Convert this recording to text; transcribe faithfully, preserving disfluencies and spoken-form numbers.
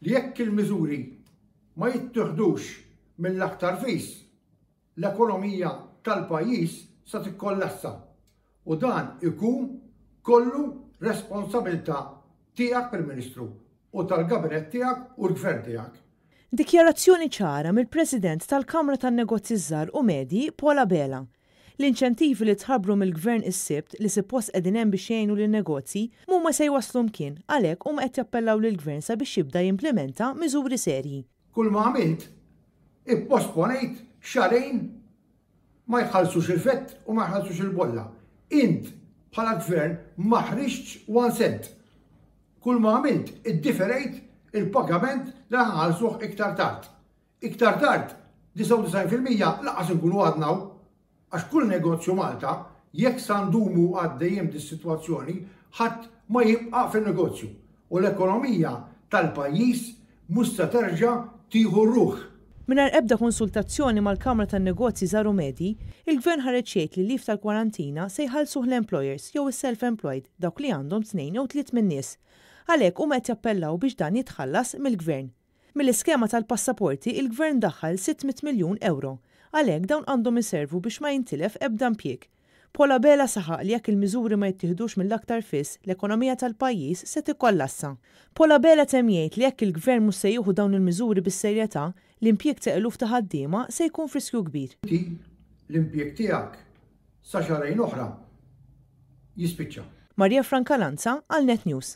Li jekk il-miżuri ma jittieħdux mill-aktar fis, l-ekonomija tal-pajjiż sa tikkollassa u dan ikun kollu responsabilità tiegħek, Prim Ministru, u tal-gabinett tiegħek u l-gvern tiegħek. Dikjarazzjoni ċara mill-President tal-Kamra tan-Negozji Żgħar u Medji, Paul Abela. L-inċentivi li tħabbru mill-Gvern is-Sibt, li suppost qegħdin hemm biex jgħinu lin-negozji, mhuma se jwaslu mkien. Għalhekk huma qed jappellaw lill-Gvern sabiex jibda jimplementa miżuri serji. Kull ma għamilt, ipposponejt xahrejn ma jħallsux il-VAT u ma jħallsux il-bolla. Int bħala gvern ma ħriġtx one cent. Kull ma għamilt, iddiferejt il-pagament li ħallsuh iktar tard. Iktar tard, disgħa u disgħin fil-mija lanqas nkunu għadna, għax kull negozju Malta, jekk sa ndumu għaddejjem dis-sitwazzjoni, ħadd ma jibqa' fin-negozju u l-ekonomija tal-pajjiż mhux se terġa' tieħu ruħ. Mingħajr ebda konsultazzjoni mal-Kamra tan-Negozji Żgħar u Medji, il-Gvern ħareġ jgħid li leave tal-kwarantina se jħallsuh l-employers jew is-self-employed, dawk li għandhom tnejn jew tliet min-nies. Għalhekk huma qed jappellaw biex dan jitħallas mill-Gvern. Mill-iskema tal-passaporti, il-Gvern daħħal sitt mitt miljun euro. Għalhekk dawn għandhom iservu biex ma jintilef ebda impjieg. Paul Abela saħaq li jekk il-miżuri ma jittieħdux mill-aktar fis, l-ekonomija tal-pajjiż se tikkollassa. Paul Abela temm jgħid li jekk il-Gvern mhux se jieħu dawn il-miżuri bis-serjetà, l-impjieg ta' eluf ta' ħaddiema se jkun f'riskju kbir. Inti l-impjieg tiegħek sa xahrejn oħra jispiċċa. Maria Francalanza għal Net News.